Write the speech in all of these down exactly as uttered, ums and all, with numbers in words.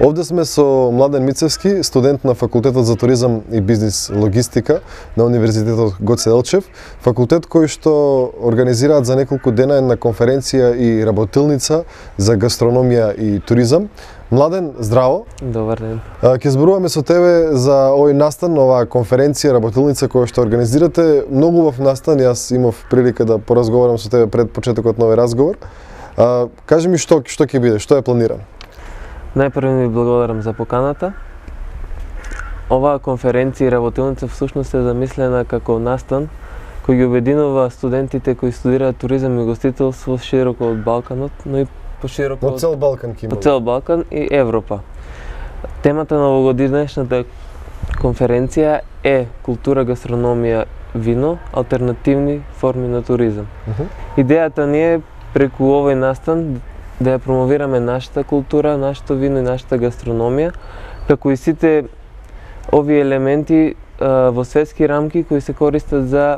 Овде сме со Младен Мицевски, студент на Факултетот за туризам и бизнис логистика на Универзитетот Гоце Делчев, факултет кој што организираат за неколку дена една конференција и работилница за гастрономија и туризам. Младен, здраво. Добар ден. Ќе зборуваме со тебе за овој настан, оваа конференција, работилница која што организирате. Многу убав настан, јас имав прилика да поразговарам со тебе пред почетокот на овој разговор. А, кажи ми што што ќе биде, што е планирано? Најпрво ви благодарам за поканата. Оваа конференција и работилница всушност е замислена како настан кој ги обединува студентите кои студираат туризам и гостителство широко од Балканот, но и пошироко од цел Балкан ќе има. Од цел Балкан и Европа. Темата на овогодишната конференција е култура, гастрономија, вино, алтернативни форми на туризам. Uh -huh. Идејата ни е преку овој настан да ја промовираме нашата култура, нашето вино и нашата гастрономија, како и сите овие елементи а, во светски рамки кои се користат за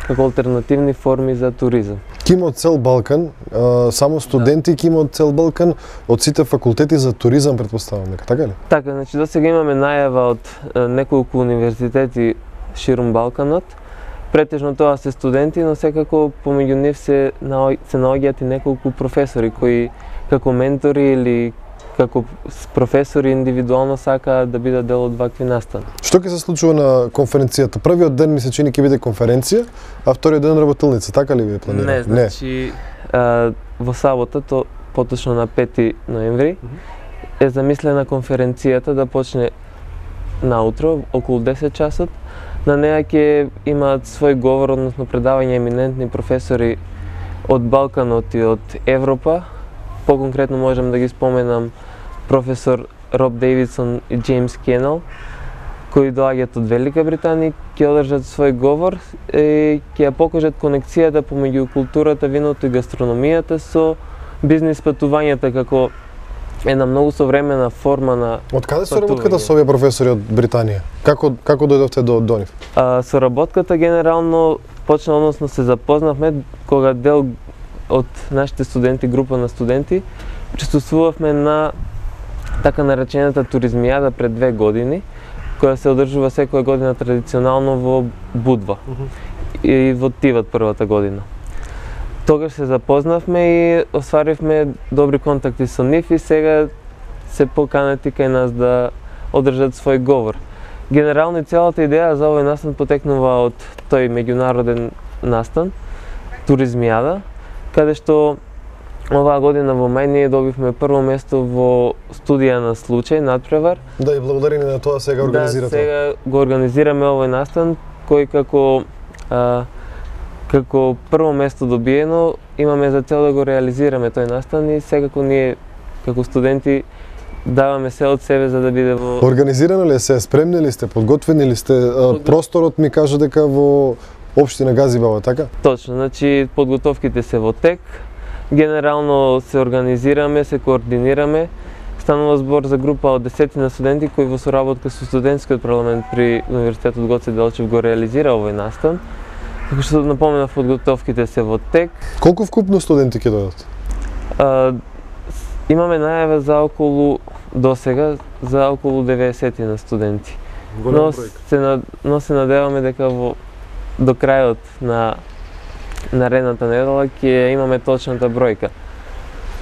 како алтернативни форми за туризам. Ки има од цел Балкан, а, само студенти ки има од цел Балкан, од сите факултети за туризам претпоставам, нека така ли? Така, значи досега имаме најава од а, неколку универзитети ширум Балканот. Претежно тоа се студенти, но секако помеѓу нив се се наоѓаат и неколку професори кои како ментори или како професори индивидуално сакаат да бидат дел од вакви настани. Што ќе се случува на конференцијата? Првиот ден ми се чини ќе биде конференција, а вториот ден работилница, така ли ви е планирано? Не, значи а, во сабота, то поточно на пети ноември, mm-hmm. е замислена конференцијата да почне наутро околу десет часот. На неа ќе имаат свој говор, односно предавање еминентни професори од Балканот и од Европа. Поконкретно можам да ги споменам професор Роб Дейвидсон и Джеймс Кенел, кои доаѓаат од Велика Британија, ќе одржат свој говор и ќе ја покажат конекцијата помеѓу културата, виното и гастрономијата со бизнис патувањата како една многу современа форма на Од каде соработката со овие професори од Британија? Како како дојдовте до до нив? А, соработката генерално почна, односно се запознавме кога дел од нашите студенти, група на студенти, присуствувавме на така наречената туризмијада пред две години, која се одржува секоја година традиционално во Будва. Uh-huh. И во Тиват првата година. Тогаш се запознавме и остваривме добри контакти со нив и сега се поканети кај нас да одржат свој говор. Генерално целата идеја за овој настан потекнува од тој меѓународен настан, туризмијада, каде што оваа година во мај ние добивме прво место во студија на случај, надпревар. Да, и благодарение на тоа сега организирате. Да, сега го организираме овој настан, кој како а, како прво место добиено, имаме за цел да го реализираме тој настан и секако ние како студенти даваме се од себе за да биде во... Организирано ли се, спремни ли сте, подготвени ли сте? Подготв... Просторот ми кажа дека во општина Газибава, така? Точно, значи подготовките се во тек, генерално се организираме, се координираме. Станува збор за група од десетина студенти кои во соработка со студентскиот парламент при Универзитетот Гоце Делчев го реализира овој настан. Како што напоменав, подготовките се во тек. Колку вкупно студенти ќе дојдат? А, имаме најава за околу досега за околу деветдесет на студенти. Но се, но се надеваме дека во до крајот на наредната недела ќе имаме точната бројка.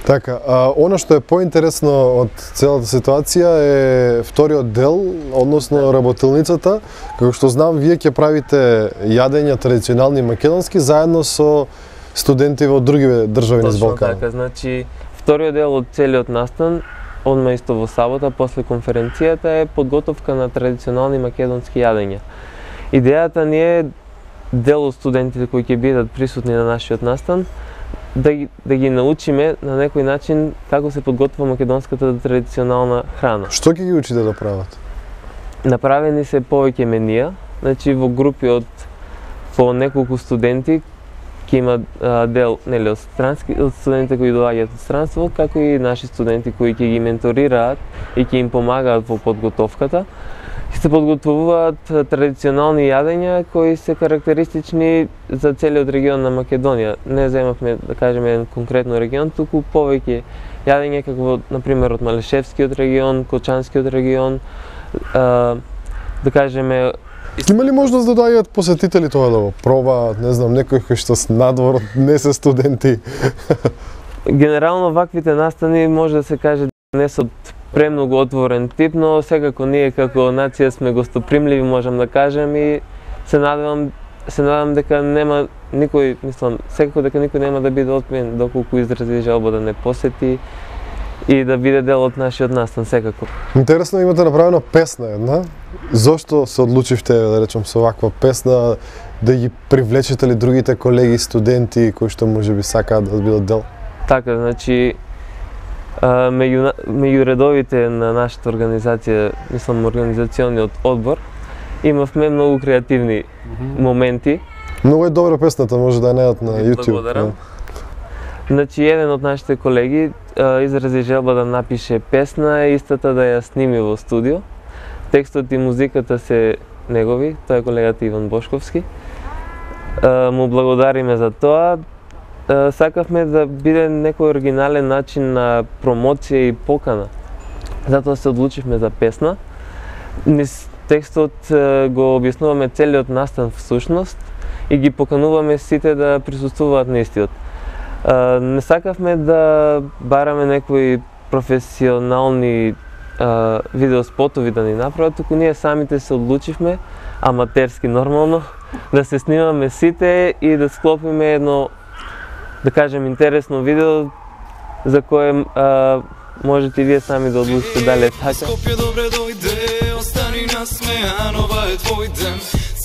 Така, а она што е поинтересно од целата ситуација е вториот дел, односно работилницата. Како што знам, вие ќе правите јадења традиционални македонски заедно со студенти во други држави низ Балканот. Точно така, значи вториот дел од целиот настан, одма исто во сабота после конференцијата, е подготовка на традиционални македонски јадења. Идејата ни е дел од студентите кои ќе бидат присутни на нашиот настан да ги, да ги научиме на некој начин како се подготвува македонската традиционална храна. Што ќе ги учите да прават? Направени се повеќе менија, значи во групи од по неколку студенти ќе има а, дел нели од странски од студентите кои доаѓаат од странство, како и наши студенти кои ќе ги менторираат и ќе им помагаат во подготовката. Се подготвуваат традиционални јадења кои се карактеристични за целиот регион на Македонија. Не земавме да кажеме еден конкретно регион, туку повеќе јадење како на пример од Малишевскиот регион, Кочанскиот регион, а, да кажеме. Има ли можност да доаѓаат посетители тоа да го пробаат, не знам, некои кои што с надвор не се студенти? Генерално ваквите настани може да се каже не се премногу отворен тип, но секако ние како нација сме гостопримливи, можам да кажем, и се надевам се надам дека нема никој, мислам, секако дека никој нема да биде отмен доколку изрази желба да не посети и да биде дел од нашиот настан, секако. Интересно, имате направена песна една. Зошто се одлучивте, да речем, со ваква песна, да ги привлечете ли другите колеги студенти кои што можеби сакаат да бидат дел? Така, значи, меѓу, меѓу редовите на нашата организација, мислам, организациониот одбор, имавме многу креативни mm-hmm. моменти. Многу е добра песната, може да ја најдат на YouTube. Благодарам. Значи, еден од нашите колеги а, изрази желба да напише песна и истата да ја сними во студио. Текстот и музиката се негови, тоа е колегата Иван Бошковски. А, му благодариме за тоа. А, сакавме да биде некој оригинален начин на промоција и покана. Затоа се одлучивме за песна. Низ текстот го објаснуваме целиот настан всушност и ги покануваме сите да присуствуваат на истиот. Не сакавме да бараме некои професионални а, видеоспотови да ни направат, туку ние самите се одлучивме, аматерски нормално, да се снимаме сите и да склопиме едно, да кажем, интересно видео за кое а, можете и вие сами да одлучите дали е така. Скопје добре дојде, остани насмејан, ова е твој ден.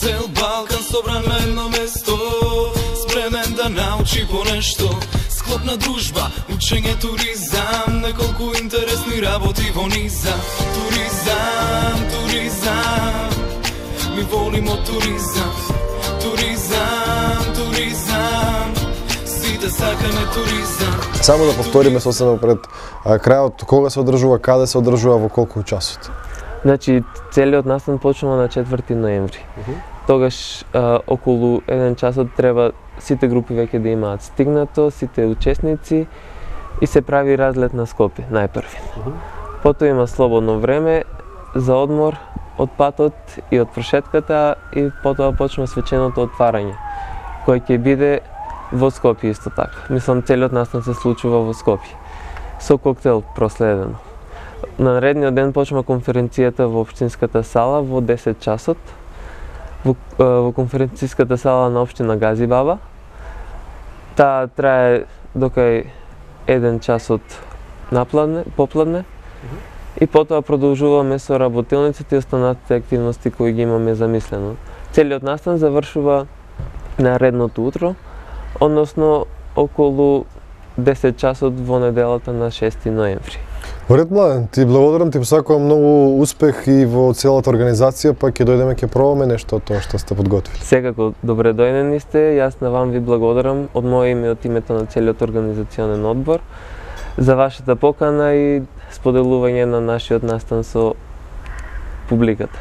Цел Балкан собран на едно место, спремен да научи по нешто. Склопна дружба, учење, туризам, неколку интересни работи во низа. Туризам, туризам, ми волимо туризам. Туризам, туризам, сите сакаме туризам. Само да повториме сосема пред крајот, кога се одржува, каде се одржува, во колку часот? Значи, целиот настан почнува на четврти ноември. Uh-huh. Тогаш а, околу еден часот треба сите групи веќе да имаат стигнато, сите учесници и се прави разлет на Скопје, најпрви. Uh-huh. Потоа има слободно време за одмор од патот и од прошетката и потоа почнува свеченото отварање, кој ќе биде во Скопје исто така. Мислам, целиот настан се случува во Скопје. Со коктел проследено. На наредниот ден почнува конференцијата во општинската сала во десет часот. Во, во конференцијската сала на општина Газибаба. Таа трае докај еден часот напладне, попладне. И потоа продолжуваме со работилниците и останатите активности кои ги имаме замислено. Целиот настан завршува наредното утро, односно околу десет часот во неделата на шести ноември. Ред, Младен, ти благодарам, ти посакувам многу успех и во целата организација, па ќе дојдеме ќе пробаме нешто од тоа што сте подготвили. Секако добре дојдени сте, јас на вам ви благодарам од моје име, од името на целиот организационен одбор за вашата покана и споделување на нашиот настан со публиката.